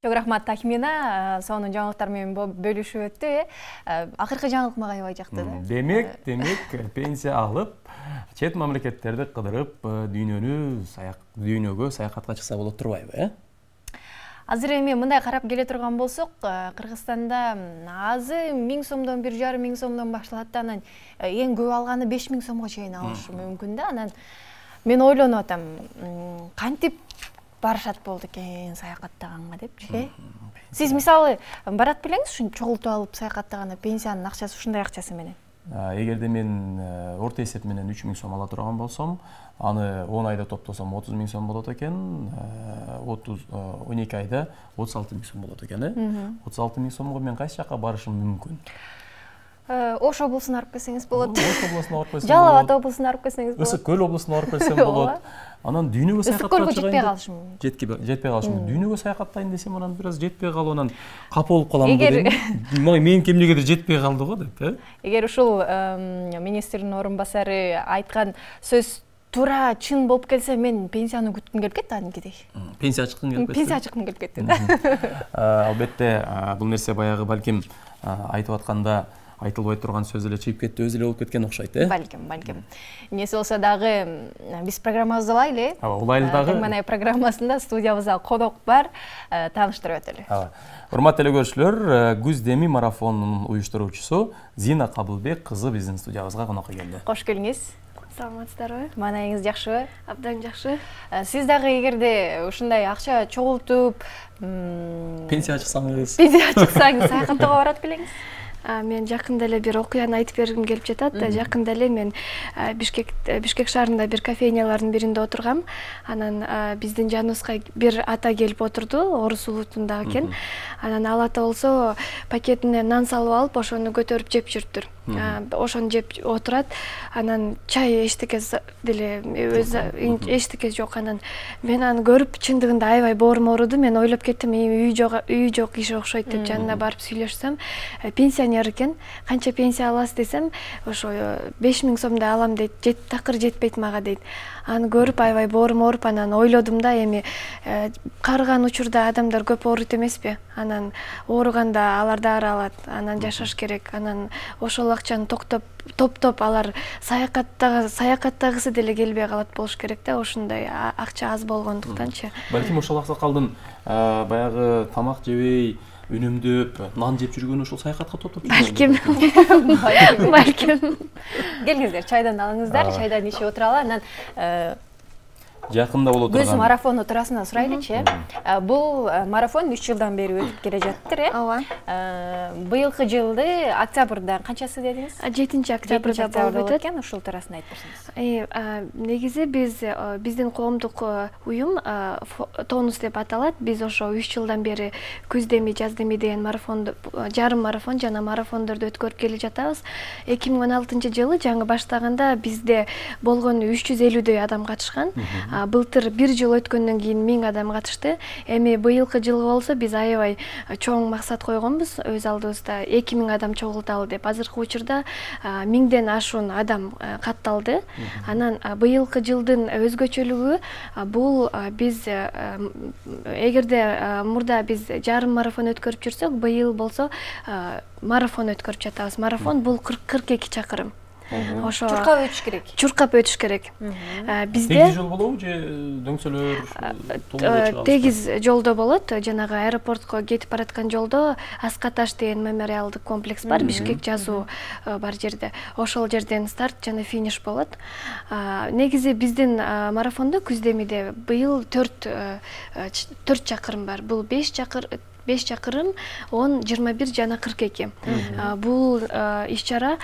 Çok rahmat Tahmina, sonun жаңылыктар менен бөлүшүп өттү. Акыркы жаңылык мага аябай жакты да. Демек, пенсия алып, чет мамлекеттерди кыдырып, дүйнөгө саякатка чыкса болот турбайбы, Азыр эми мындай карап келе турган болсок, Кыргызстанда азы 1000 сомдон 1500 сомдон башталат да, анан эң көп алганы 5000 сомго чейин алышы мүмкүн да. Анан мен ойлонуп атам, кантип барышат болду экен саякаттаганга депчи. Сиз мисалы барат белеңиз ушун чогултуп алып саякаттаганда пенсиянын акчасы ушундай акчасы менен. Эгерде мен орто эсеп менен 3000 сом ала турган болсом, аны 10 айда топтосом 30 000 сом болот экен, 12 айда 36 000 сом болот экен. 36 000 сомго мен кайсы жака барышым мүмкүн? Ош облусуна барып келсеңиз болот. Ош облусуна барып келсем болот. Жалал Абад облусуна барып келсеңиз болот. Ысык көл облусуна барып келсем болот. Анан дүйнөгө саякаттап жетпей калышым мүмкүн. Жетпей калышым мүмкүн. Дүйнөгө саякаттайын десем, анан бир аз жетпей калып, анан капа болуп калам деп. Менин кимдигедир жетпей калды го деп, Эгер ушул министрдин орун басары айткан сөз туура чын болуп келсе, мен пенсияны күткүм келип кетти анимкидей. Пенсия чыккым келип кетти. Пенсия чыккым келип кетти да. Албетте, бул нерсе баягы балким айтып атканда айтылбай турган сөз эле чыгып кетти, өзү эле болуп кеткен окшойт, Балким. Эмнеси болсо дагы биз программабызды улайлы. Улайлы дагы. Мына программасында студиябызда конок бар, тааныштырып өтөлү. Урматтуу көрүүчүлөр, Күз деми марафонунун уюштуруучусу Зина Кабылбек кызы биздин студиябызга конокко келди. Кош келиңиз. Саламатсыздарбы? Маанайыңыз жакшыбы? Абдан жакшы. Сиз дагы эгерде ушундай акча чогултуп, пенсия чыксаңыз, саякаттоого барат белеңиз? Мен жакында эле бир окуяны айтып бергим келип жатат. Жакында эле мен Бишкек шаарында бир кафейнялардын биринде отургам. Анан биздин жаныбызга бир ата келип отурду, орус улутундагы экен. Анан ал ата болсо пакетине нан салып алып, ошону көтөрүп жеп жүрүптүр. Ошону жеп отурат. Анан чай эчтеке деле эчтеке жок. Анан мен аны көрүп чындыгында аябай боорум ооруду. Мен ойлоп кеттим, үй жок киши окшойт деп жанына барып сүйлөшсөм, пенсионер экен. Канча пенсия аласыз десем, ошо 5000 сомдой алам дейт. Такыр жетпейт мага дейт. Аны көрүп аябай боорум ооруп, анан ойлодум да, эми карыган учурда адамдар көп ооруйт эмеспи? Анан ооруганда алар дары алат, анан жашаш керек. Анан ошол акчаны топтоп алар саякаттагысы деле келбей калат болуш керек да, ошондой акча аз болгондуктанчы. Балким ошол аксакалдын баягы тамак жебей үнүмдөп, нан жеп жүргөнү ошол саякатка топтоп жүргөн. Балким. Келиңиздер, чайдан алыңыздар, чайдан ичип отуралы. Анан жакында боло турган Күз марафону туурасында сурайлычы. Бул марафон 3 жылдан бери өтүп келе жатыр, Ооба. Быйылкы жылды октябрда канчасы дедиңиз? 7-октябрда болуп өткөн, ушул туурасында айтып берсеңиз. Негизи биздин коомдук уюм Тонус деп аталат. Биз ошо 3 жылдан бери Күз деми, Жаз деми деген жарым марафон жана марафондорду өткөрүп келе жатабыз. 2016-жылы жаңы баштаганда бизде болгону 350дөй адам катышкан. Былтыр бир жыл өткөндөн кийин 1000 адам катышты. Эми быйылкы жылы болсо биз аябай чоң максат койгонбуз өз алдыбызда, 2000 адам чогулталы деп. Азыркы учурда 1000ден ашуун адам катталды. Анан быйылкы жылдын өзгөчөлүгү бул биз эгерде мурда биз жарым марафон өткөрүп жүрсөк, быйыл болсо марафон өткөрүп жатабыз. Марафон бул 42 чакырым. Ошо чуркап өтүш керек. Чуркап өтүш керек. Бизде тегиз жол болобу же дөңсөлөр? Тегиз жолдо болот. Жанагы аэропортко кетип бараткан жолдо Аскаташ деген мемориалдык комплекс бар, Бишкек жазуу бар жерде. Ошол жерден старт жана финиш болот. Негизи биздин марафондо Күз демиде быйыл 4 чакырым бар. Бул 5 чакырым, 10, 21 жана 42. Бул иш-чара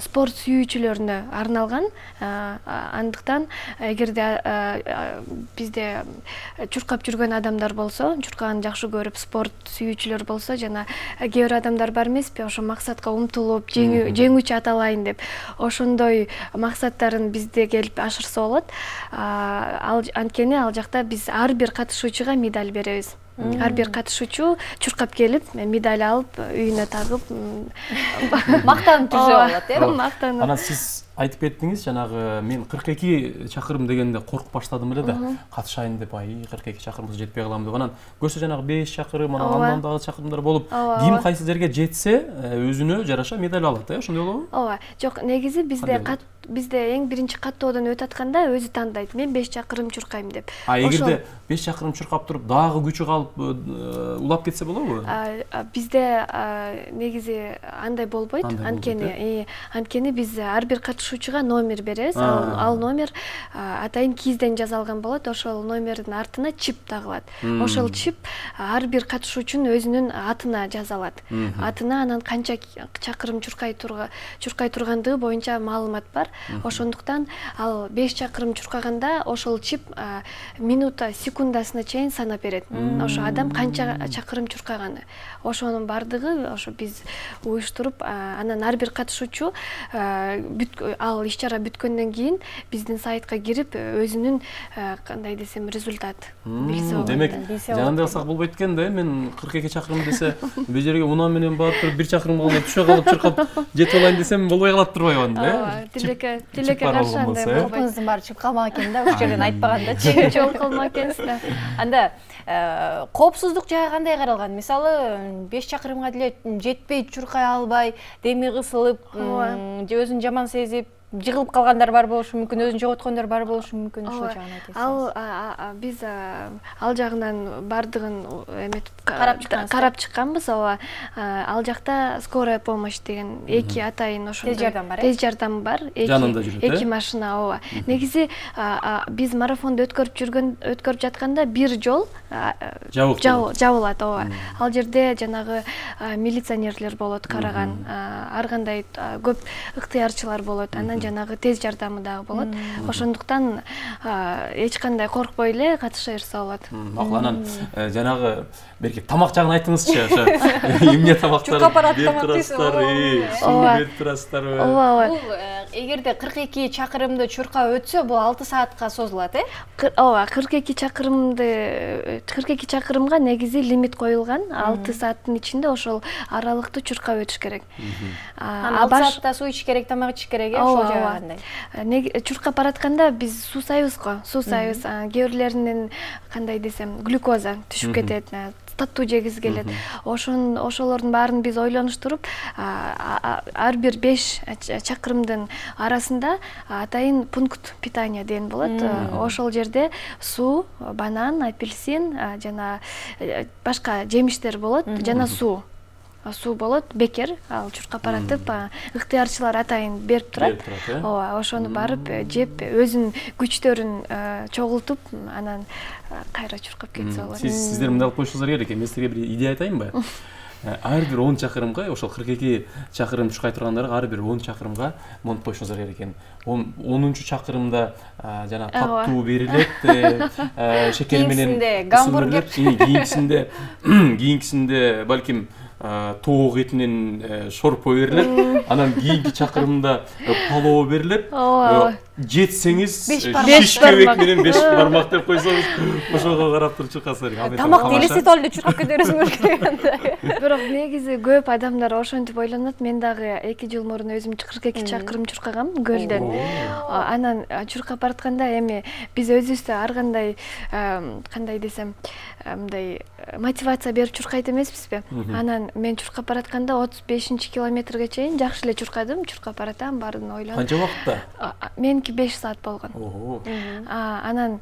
спорт сүйүүчүлөрүнө арналган. Андыктан эгерде бизде чуркап жүргөн адамдар болсо, чуркаганды жакшы көрүп спорт сүйүүчүлөр болсо, жана кээ бир адамдар бар эмеспи, ошо максатка умтулуп, жеңүүчү аталайын деп, ошондой максаттарын бизде келип ашырса болот. Анткени ал жакта биз ар бир катышуучуга медаль беребиз. Ар бир катышуучу чуркап келип, медаль алып, үйүнө тагып, мактанып жүрсө болот, Мактанып. Анан сиз айтып кеттиңиз, жанагы мен 42 чакырым дегенде коркуп баштадым эле да, катышайын деп, 42 чакырымга жетпей калам деп. Анан көрсө жанагы 5 чакырым, андан дагы чакырымдар болуп, ким кайсы жерге жетсе, өзүнө жараша медаль алат, ошондой болобу? Ооба. Жок, негизи бизде эң биринчи каттоодон өтүп атканда өзү тандайт. Мен 5 чакырым чуркайм деп. Эгерде 5 чакырым чуркап туруп, дагы күчү калып улап кетсе болобу? Бизде негизи андай болбойт. Анткени биз ар бир катышуучуга номер беребиз. Ал номер атайын кизден жасалган болот. Ошол номердин артына чип тагылат. Ошол чип ар бир катышуучунун өзүнүн атына жазалат. Атына анан канча чакырым чуркай тургандыгы боюнча маалымат бар. Ошондуктан ал 5 чакырым чуркаганда ошол чип минута, секундасына чейин санап берет. Ошо адам канча чакырым чуркаганы. Ошонун бардыгы ошо биз уюштуруп, анан ар бир катышуучу ал иш-чара бүткөндөн кийин биздин сайтка кирип өзүнүн кандай десем результат билсе болот. Демек, жанында алсак болбойт экен да, мен 42 чакырым десе, бул жерге унаа менен барып туруп 1 чакырым калган түшө калып чуркап жетип алайын десем болбой калат турбайбы анда, Тилекке каршы андай болбойт. Топуңуздун баары чыгып калмак экен да, ушул жерден айтпагандачы. Жок калмак экенсиз да. Анда коопсуздук жагы кандай каралган? Мисалы 5 чакырымга деле жетпей чуркай албай, деми кысылып, же өзүн жаман сезип, жыгылып калгандар бар болушу мүмкүн, өзүн жоготкондор бар болушу мүмкүн, ошол жагын айтасыз. Биз ал жагынан бардыгын карап чыкканбыз. Ооба. Ал жакта скорая помощь деген 2 атайын ошондой тез жардам бар. Жанында жүрөт, 2 машина, ооба. Негизи биз марафонду өткөрүп жатканда бир жол жабылат, ооба. Ал жерде жанагы милиционерлер болот караган, ар кандай көп ыктыярчылар болот. Анан жанагы тез жардамы дагы болот. Ошондуктан эч кандай коркпой эле катыша берсе болот. Макул, анан жанагы берки тамак жагын айтыңызчы, ошо эмне тамактар берип турасыздар, суу берип турасыздарбы? Ооба. Бул эгерде 42 чакырымды чуркап өтсө, бул 6 саатка созулат, Ооба, 42 чакырымга негизи лимит коюлган. 6 сааттын ичинде ошол аралыкты чуркап өтүш керек. 6 саатта суу ичиш керек, тамак ичиш керек, ошол жагы кандай? Чуркап баратканда биз суусайбыз го, суусайбыз. Кээ бирлеринин кандай десем, глюкоза түшүп кетет, таттуу жегиз келет. Ошолордун баарын биз ойлонуштуруп, ар бир 5 чакырымдын арасында атайын пункт питания деген болот. Ошол жерде суу, банан, апельсин, жана башка жемиштер болот, жана суу болот, бекер, ал чуркап баратып, ыктыярчылар атайын берип турат. Ооба, ошону барып жеп, өзүнүн күчтөрүн чогултуп, анан кайра чуркап кетсе болот. Сиздер мындай кылып коюшуңуздар керек экен. Мен силерге бир идея айтайынбы? Ар бир 10 чакырымга, ошол 42 чакырым чуркай тургандарга ар бир 10 чакырымга монтуп коюшуңуздар керек экен. 10-чу чакырымда жана таттуу берилет, шекер менен гамбургер, кийинкисинде балким тоок этинен шорпо берилет, анан кийинки чакырымда палоо берилет. Жетсеңиз шишкебек менен 5 бармак деп койсоңуз, ошого карап туруп чуркасыздар. Тамакты элестетип алып эле чуркап кетерсиңер керек. Бирок негизи көп адамдар ошентип ойлонот. Мен дагы 2 жыл мурун өзүм 42 чакырым чуркагам көлдөн. Анан чуркап баратканда эми биз өзүбүздө ар кандай кандай десем, мындай мотивация берип чуркайт эмеспизби? Анан мен чуркап баратканда 35-километрге чейин жакшы эле чуркадым, чуркап баратам, баарын ойлонуп. Канча убакытта? Меники 5 саат болгон. Анан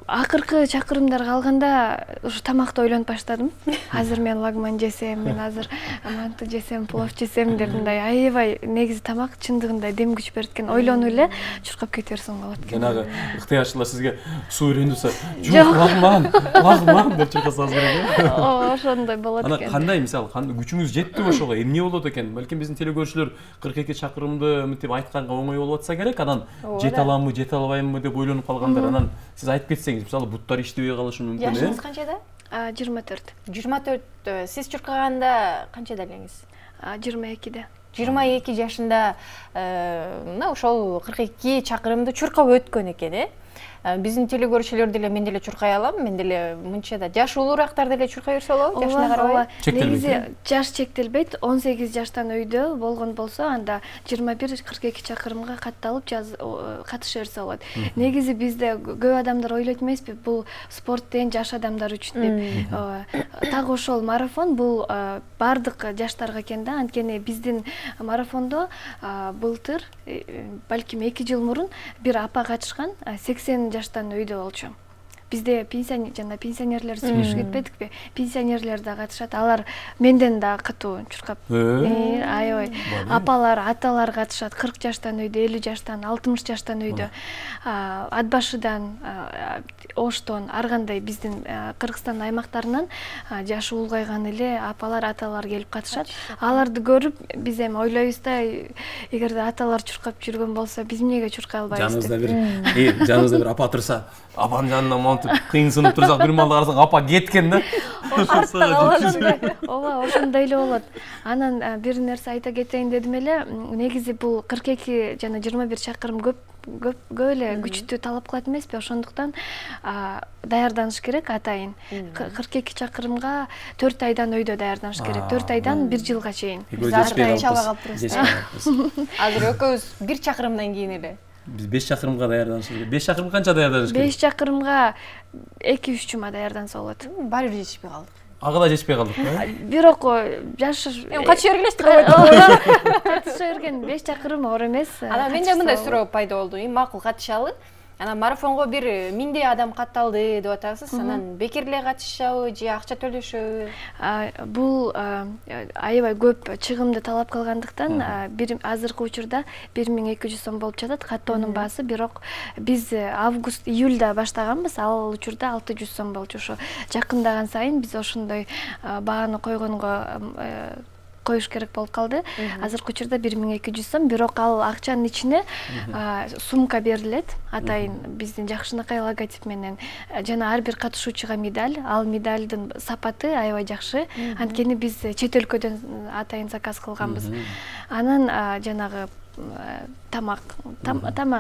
акыркы чакырымдар калганда ушу тамакты ойлонуп баштадым. Азыр мен лагман жесем, мен азыр манты жесем, плов жесем деп мындай аябай негизи тамак чындыгында дем күч берет экен. Ойлонуп эле чуркап кете берсең болот экен. Жанагы ыктыярчылар сизге суу үйрөндүрсө, жок, лагман деп чуркасаңыз керек. Ошондой болот экен. Анан кандай, мисалы, күчүңүз жетти ошого, эмне болот экен? Балким биздин телекөрүүчүлөр 42 чакырымды мынтип айтканга оңой болуп атса керек, анан жете аламбы, жете албаймбы деп ойлонуп калгандар. Анан сиз айтып кетсеңиз, мисалы, буттар иштебей калышы мүмкүн. Жашыңыз канчада? 24. 24. Сиз чуркаганда канчада элеңиз? 22-де. 22 жашында мына ошол 42 чакырымды чуркап өткөн экен, биздин телегөрүүчүлөр деле мен деле чуркай алам. Мен деле мынча да жашы улуурактар деле чуркай берсе болобу? Жашына карабай. Негизи жаш чектелбейт. 18 жаштан өйдө болгон болсо, анда 21-42 чакырымга катталып катыша берсе болот. Негизи бизде көп адамдар ойлойт эмеспи, бул спорт деген жаш адамдар үчүн деп. Так ошол марафон бул бардык жаштарга экен да. Анткени биздин марафондо былтыр, балким 2 жыл мурун бир апа катышкан, 80 жаштан өйдө болчу. Бизде пенсионерлер сүйлөшүп кетпедикпи? Пенсионерлер да катышат. Алар менден да катуу чуркап. Аябай. Апалар, аталар катышат. 40 жаштан өйдө, 50 жаштан, 60 жаштан өйдө. Ат башыдан, Оштон, ар кандай биздин Кыргызстан аймактарынан жашы улгайган эле апалар, аталар келип катышат. Аларды көрүп биз эми ойлойбуз да, эгерде аталар чуркап жүргөн болсо, биз эмнеге чуркай албайбыз деп. Жаныбызда бир апа турса, апанын жанынан монтип кыйынсынып турсак, бир маалда карасаң апа кеткен да. Ооба, ошондой эле болот. Анан бир нерсе айта кетейин дедим эле. Негизи бул 42 жана 21 чакырым көп эле күчтү талап кылат эмеспи? Ошондуктан даярданыш керек атайын. 42 чакырымга 4 айдан өйдө даярданыш керек. 4 айдан 1 жылга чейин. Азыр экөөбүз 1 чакырымдан кийин эле. Биз 5 чакырымга даярданыш керек. 5 чакырым канча даярданыш керек? 5 чакырымга 2-3 жума даярданса болот. Баары бир жетишпей калдык. Ага да жетишпей калдык. Бирок жаш катыша бергиле катыша берген 5 чакырым оор эмес. Анан менде мындай суроо пайда болду. Макул катышалы. Анан марафонго бир 1000 адам катталды деп атасыз. Анан бекер эле катышабы же акча төлөшөбү? Бул аябай көп чыгымды талап кылгандыктан азыркы учурда 1200 сом болуп жатат каттоонун баасы. Бирок биз август, июлда баштаганбыз. Ал учурда 600 сом болчу. Ошо жакындаган сайын биз ошондой бааны коюш керек болуп калды. Азыркы учурда 1200 сом, бирок ал акчанын ичине сумка берилет. Атайын биздин жакшынакай логотип менен жана ар бир катышуучуга медаль. Ал медальдын сапаты аябай жакшы. Анткени биз чет өлкөдөн атайын заказ кылганбыз. Анан жанагы тамак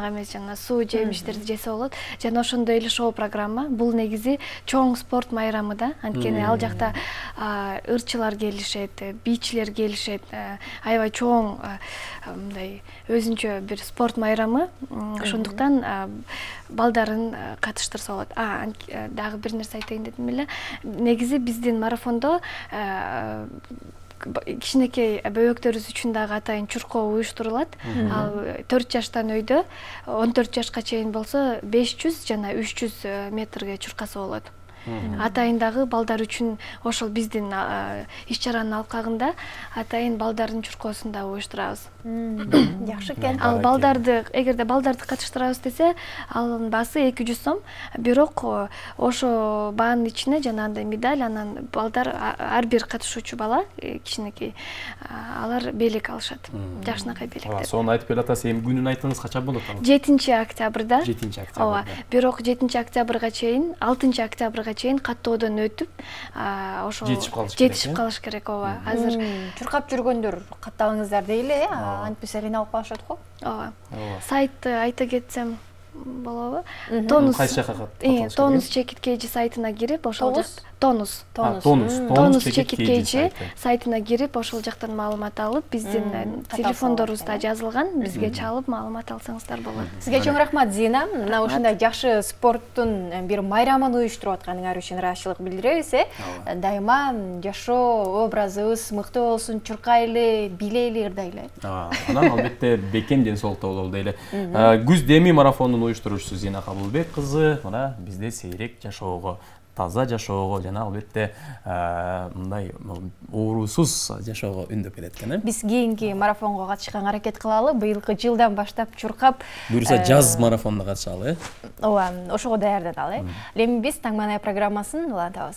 эмес, жана суу жемиштерди жесе болот. Жана ошондой эле шоу программа. Бул негизи чоң спорт майрамы да. Анткени ал жакта ырчылар келишет, бийчилер келишет. Аябай чоң мындай өзүнчө бир спорт майрамы. Ошондуктан балдарын катыштырса болот. Дагы бир нерсе айтайын дедим эле. Негизи биздин марафондо кичинекей бөбөктөрүбүз үчүн дагы атайын чуркоо уюштурулат. Ал 4 жаштан өйдө 14 жашка чейин болсо 500 жана 300 метрге чуркаса болот. Атайын дагы балдар үчүн ошол биздин иш-чаранын алкагында атайын балдардын чуркоосун да уюштурабыз. Жакшы экен. Ал балдарды, эгерде балдарды катыштырабыз десе, алынын баасы 200 сом. Бирок ошо баанын ичине жанагындай медаль, анан балдар ар бир катышуучу бала кичинекей алар белек алышат. Жакшынакай белектер. Сону айтып келатасыз, эми күнүн айтыңыз, качан болот ал? 7-октябрда. 7-октябрда. Ооба. Бирок 7-октябрга чейин, 6-октябрга чейин каттоодон өтүп, ошо жетишип калыш керек. Ооба. Азыр чуркап жүргөндөр катталыңыздар дейли, антпесе кыйналып калышат го. Ооба. Сайтты айта кетсем болобу? Тонус. Кайсы жакка катталыш? Тонус чекиткейчи сайтына кирип, ошол жак Тонус чекиткейчи сайтына кирип, ошол жактан маалымат алып, биздин телефондорубузда жазылган, бизге чалып маалымат алсаңыздар болот. Сизге чоң рахмат, Зина. Мына ушундай жакшы спорттун бир майрамын уюштуруп атканыңар үчүн ыраазычылык билдиребиз. Дайыма жашоо образыбыз мыкты болсун, чуркайлы, билейли, ырдайлы. Анан албетте бекем ден соолукта бололу дейли. Күз деми марафонунун уюштуруучусу Зина Кабылбек кызы мына бизде сейрек жашоого, таза жашоого жана албетте мындай оорусуз жашоого үндөп келет экен. Биз кийинки марафонго катышканга аракет кылалы. Быйылкы жылдан баштап чуркап, буюрса жаз марафонуна катышалы. Ооба, ошого даярданалы. Эми биз Таң Маанай программасын улантабыз.